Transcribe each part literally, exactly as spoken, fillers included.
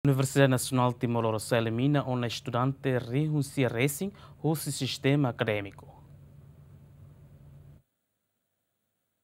Universidade Nasionál Timor Lorosa'e elimina ona estudante rihun sia resin husi sistema akadémiku.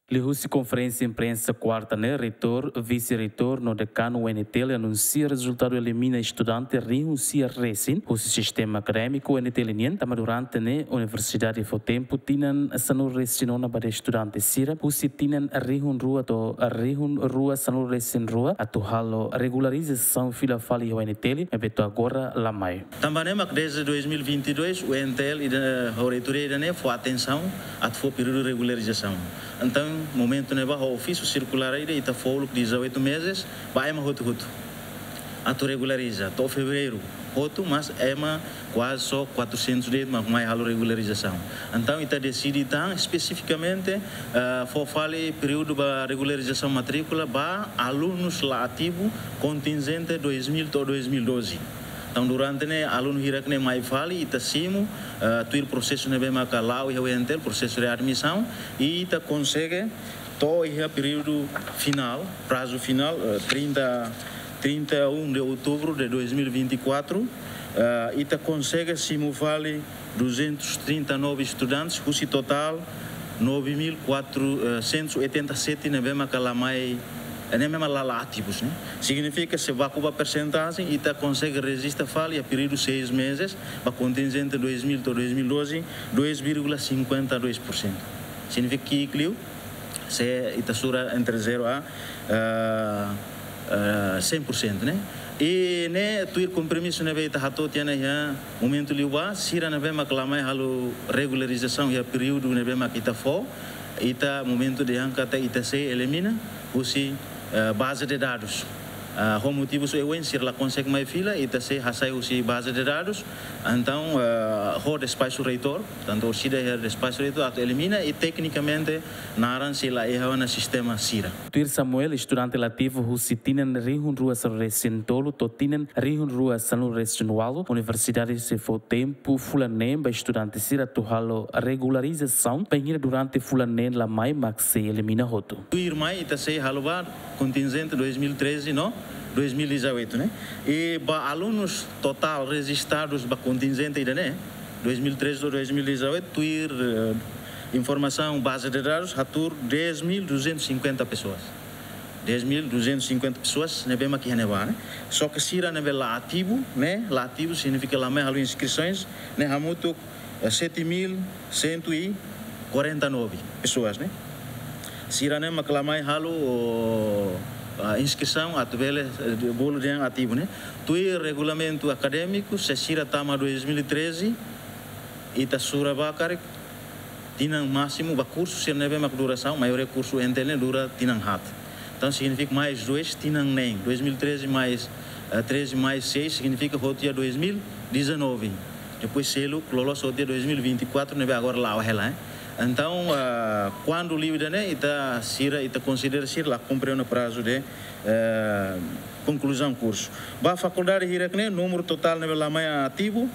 Liuhusi konferénsia imprensa kuarta ne'e, reitór, vise-reitór no dekanu U N T L anunsia rezultadu elimina estudante rihun sia resin husi sistema akadémiku U N T L nian, tanba durante ne'e universidade fó tempu tinan sanulu resin ona ba estudante sira husi tinan rihun rua to'o rihun rua sanulu resin rua atu halo regularizasaun fila fali iha U N T L, maibé to'o agora la mai. Tanba ne'e mak desde dois mil e vinte e dois, U N T L ida, ho reitoria ida-ne'e fó atensaun atu fó períodu regularizasaun. Entaun, momentu ne'ebá ho ofísiu sirkulár ida, ita fó uluk dezoito meses ba ema hotu-hotu atu regulariza to'o fevereiru hotu, mas ema kuaze só quatrocentos de'it mak mai halo regularizasaun. Entaun, ita deside tan espesifikamente, eh, fó fali períodu ba regularizasaun matríkula ba alunus la ativu kontinjente dois mil to'o dois mil e doze. Entaun, durante ne'e alunu hirak ne'e mai fali, ita simu, eh, tuir prosesu ne'ebé maka la'o iha U N T L, prosesu readmisaun, i ita konsege to'o iha períodu finál, prazu finál, eh, trinta, trinta e um de outubro de dois mil e vinte e quatro, eh, ita konsege simu fali duzentos e trinta e nove estudantes, husi totál nove mil quatrocentos e oitenta e sete ne'ebé maka la mai, eh, ne'ebé maka la, la ativus, ne'e. Signifika, se baku ba persentajen, ita konsege rejista fali iha períodu seis meses, ba kontinjente dois mil to'o dois mil e doze, dois vírgula cinquenta e dois por cento. Signifika ki'ik liu, se ita sura entre zero a, eh, eh, cem por cento, ne'e. I ne'e tuir kompromisu ne'ebé ita hato'o tiha ona iha momentu liubá, sira ne'ebé mak la mai halo regularizasaun iha períodu ne'ebé mak ita fó, ita momentu dehan katak ita sei elimina husi, eh, baze de dadus. Ah, ho motivus oioin, sira la konsege mai fila, ita sei hasai husi baze de dadus. Entaun, eh, ho despaxu reitór, tantu orsida iha despaxu reitór atu elimina i teknikamente naran sei la iha ona sistema sira. Tuir Samuel, estudante la ativu husi tinan rihun rua sanulu resin tolu to'o tinan rihun rua sanulu resin ualu, universidade sei fó tempu fulan neen ba estudante sira atu halo regularizasaun, bainhira durante fulan neen la mai mak sei elimina hotu. Tuirmai ita sei halo ba kontinjente dois mil e treze no dois mil e dezoito, ne'e. I ba alunus totál rejistadus ba kontinjente ida-ne'e, dois mil e treze to'o dois mil e dezoito, tuir, eh, informasaun baze de dadus, hatuur dez mil duzentos e cinquenta pessoas. Dez mil duzentos e cinquenta pessoas ne'ebé mak iha ne'ebá, ne'e. Só ke sira ne'ebé la ativu, ne'e, la ativu signifika la mai halo inskrisaun, ne'e hamutuk, eh, sete mil cento e quarenta e nove pessoas, ne'e. Sira ne'e mak la mai halo, o, ah, inskrisaun atu bele, eh, bolu dehan ativu, ne'e. Tuir regulamentu akadémiku, se sira tama dois mil e treze, ita sura ba karik tinan másimu ba kursu sira ne'ebé mak durasaun, maioria kursu U N T L ne'e dura tinan haat. Entaun, signifika mais dois, tinan neen. Dois mil e treze mais, eh, treze mais seis, signifika hotu iha dois mil e dezanove. Depois, seluk loloos hotu iha dois mil e vinte e quatro, ne'ebé agora la'o hela, eh. Entaun, ah, kuandu liu ida-ne'e, ita sira, ita konsidera sira la kumpre ona prazu de, eh, konkluzaun kursu. Ba fakuldade hirak ne'e, númeru totál ne'ebé la mai ativu,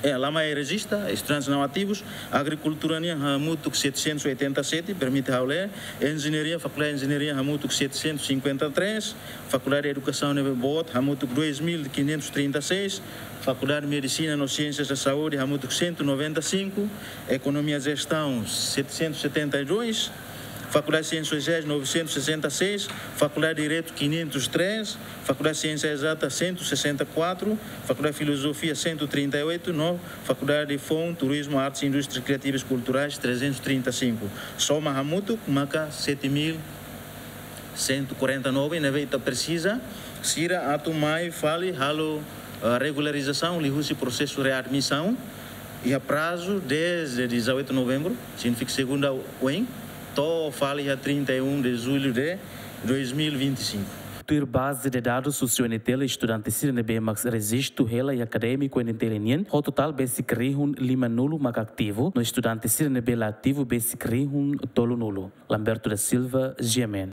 eh, la mai rejista, estudantes não ativos, agrikultura nian hamutuk setecentos e oitenta e sete, permite ha'u lee, enjeñaria, fakuldade de enjeñaria hamutuk setecentos e cinquenta e três, fakuldade de edukasaun ne'ebé boot hamutuk dois mil quinhentos e trinta e seis, fakuldade de medisina no siénsias da saúde hamutuk cento e noventa e cinco, ekonomia e jestaun setecentos e setenta e dois, fakuldade de siénsias sosiais novecentos e sessenta e seis, fakuldade de direitu quinhentos e três, fakuldade de siénsias ezatas cento e sessenta e quatro, fakuldade de filozofia cento e trinta e oito, no fakuldade de foun, turizmu, artes, indústrias kriativas kulturais trezentos e trinta e cinco. Soma hamutuk maka sete mil cento e quarenta e nove, ne'ebé ita presiza sira atu mai fali halo, eh, regularizasaun liuhusi prosesu readmisaun iha prazu desde dezoito de novembro, signifika segunda oin, to'o fali iha trinta e um de julho de dois mil e vinte e cinco. Tuir baze de dadus husi U N T L, estudante sira ne'ebé mak rejistu hela iha akadémiku U N T L nian, ho totál besik rihun limanulu mak ativu, no estudante sira ne'ebé la ativu besik rihun tolunulu. Lamberto da Silva, G M N.